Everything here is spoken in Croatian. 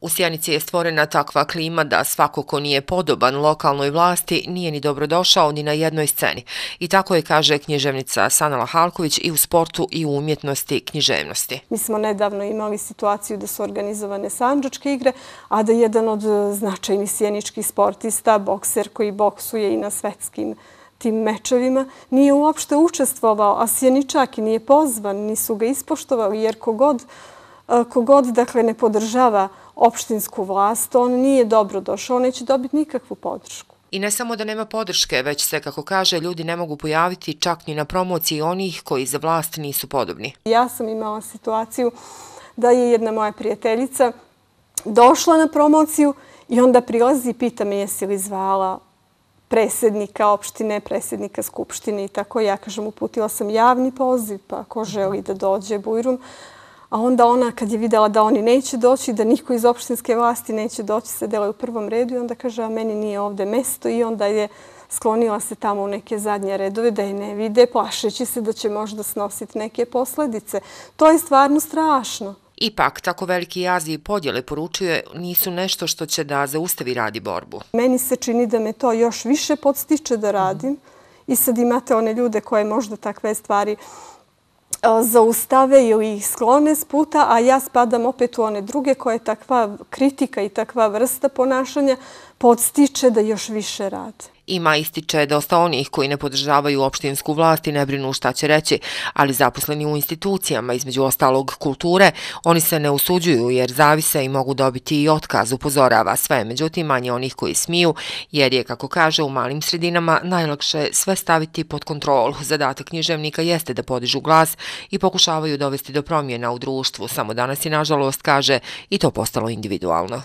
U Sjenici je stvorena takva klima da svako ko nije podoban lokalnoj vlasti nije ni dobrodošao ni na jednoj sceni. I tako je, kaže književnica Sanela Halković, i u sportu i u umjetnosti književnosti. Mi smo nedavno imali situaciju da su organizovane sandžačke igre, a da jedan od značajnih sjeničkih sportista, bokser koji boksuje i na svetskim tim mečevima, nije uopšte učestvovao, a Sjeničak i nije pozvan, nisu ga ispoštovali, jer kogod dakle, ne podržava opštinsku vlast, on nije dobro došao, on neće dobiti nikakvu podršku. I ne samo da nema podrške, već se, kako kaže, ljudi ne mogu pojaviti čak ni na promociji onih koji za vlast nisu podobni. Ja sam imala situaciju da je jedna moja prijateljica došla na promociju i onda prilazi i pita me jesi li zvala predsjednika opštine, predsjednika skupštine i tako. Ja kažem, uputila sam javni poziv, pa ko želi da dođe Bujrum. A onda ona, kad je videla da oni neće doći, da niko iz opštinske vlasti neće doći, sedela je u prvom redu i onda kaže, a meni nije ovde mesto, i onda je sklonila se tamo u neke zadnje redove da je ne vide, plašeći se da će možda snositi neke posledice. To je stvarno strašno. Ipak, tako veliki jazi i podjele, poručuje, nisu nešto što će da zaustavi rad i borbu. Meni se čini da me to još više podstiče da radim i sad imate one ljude koje možda takve stvari zaustave ili ih sklone s puta, a ja spadam opet u one druge koje takva kritika i takva vrsta ponašanja podstiče da još više rade. Ima, ističe, dosta onih koji ne podržavaju opštinsku vlast i ne brinu šta će reći, ali zaposleni u institucijama, između ostalog kulture, oni se ne usuđuju jer zavise i mogu dobiti i otkaz, upozorava sve. Međutim, manje onih koji smiju, jer je, kako kaže, u malim sredinama najlakše sve staviti pod kontrolu. Zadatak književnika jeste da podižu glas i pokušavaju dovesti do promjena u društvu. Samo danas je, nažalost, kaže, i to postalo individualno.